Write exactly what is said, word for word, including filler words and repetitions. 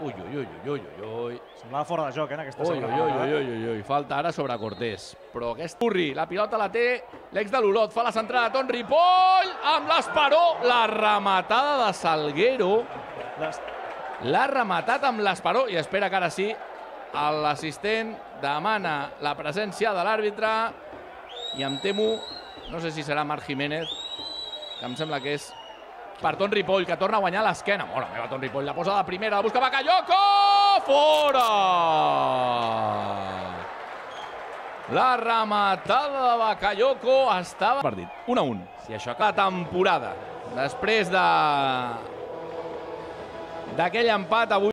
Ui, ui, ui, ui, ui, ui. Semblava fora de joc, eh, en aquesta Ui, segona ui, ui, part. ui, ui, ui, falta ara sobre Cortés. Però aquest Curri, la pilota la té l'ex de l'Olot, fa la centrada Ton Ripoll, amb l'esperó, la rematada de Salguero. Les... L'ha rematat amb l'esperó i espera que ara sí l'assistent demana la presència de l'àrbitre i em temo, no sé si serà Marc Jiménez, que em sembla que és per Ton Ripoll, que torna a guanyar l'esquena. Mora meva, Ton Ripoll, la posa de primera, la busca Bakayoko! Fora! La rematada de Bakayoko estava... Partit, un a un. Si això la temporada, després de... d'aquell empat avui...